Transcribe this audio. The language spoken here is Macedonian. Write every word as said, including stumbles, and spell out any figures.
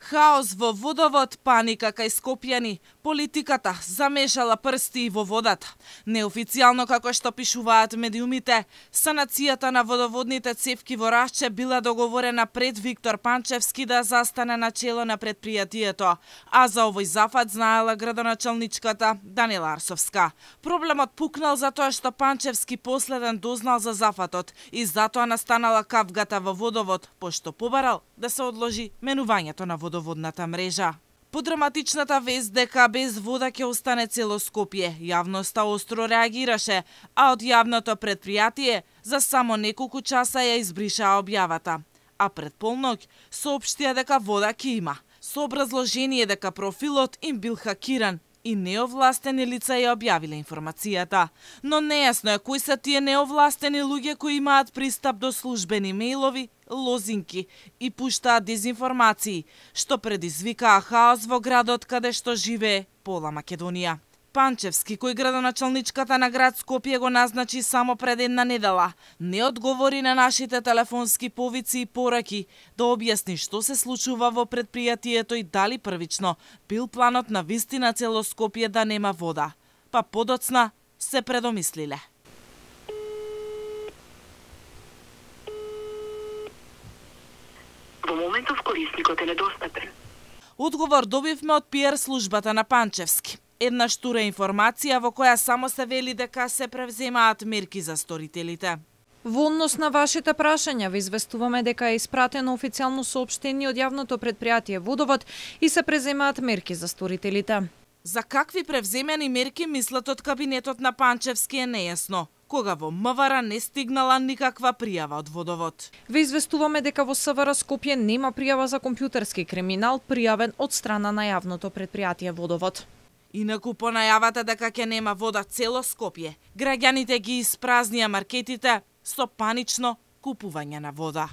Хаос во водовод, паника кај скопјани, политиката замешала прсти и во водата. Неофицијално, како што пишуваат медиумите, санацијата на водоводните цевки во Рашче била договорена пред Виктор Панчевски да застане на чело на предпријатието, а за овој зафат знаела градоначалничката Данила Арсовска. Проблемот пукнал затоа што Панчевски последен дознал за зафатот и затоа настанала кавгата во водовод, пошто побарал да се одложи менувањето на водоводната мрежа. По драматичната вест дека без вода ќе остане цело Скопје, јавноста остро реагираше, а од јавното предпријатие за само неколку часа ја избришаа објавата. А пред полноќ соопштија дека вода ќе има, со образложение дека профилот им бил хакиран и неовластени лица ја објавиле информацијата. Но нејасно е кои се тие неовластени луѓе кои имаат пристап до службени мејлови, лозинки и пуштаат дезинформации, што предизвикаа хаос во градот каде што живее пола Македонија. Панчевски, кој градоначалничката на град Скопје го назначи само пред една недела, не одговори на нашите телефонски повици и пораки да објасни што се случува во предпријатието и дали првично бил планот на вистина цело Скопје да нема вода. Па подоцна се предомислиле. Во моментов корисникот е недостапен. Одговор добивме од пиар службата на Панчевски. Една штура информација во која само се вели дека се превземаат мерки за сторителите. Во однос на вашите прашања ви известуваме дека е испратено официјално соопштение од јавното предпријатие Водовод и се преземаат мерки за сторителите. За какви превземени мерки мислат од кабинетот на Панчевски е нејасно, кога во МВР не стигнала никаква пријава од Водовод. Ви известуваме дека во СВР Скопје нема пријава за компјутерски криминал пријавен од страна на јавното предпријатие Водовод. Инаку по најавата дека ќе нема вода цело Скопје, граѓаните ги испразнија маркетите со панично купување на вода.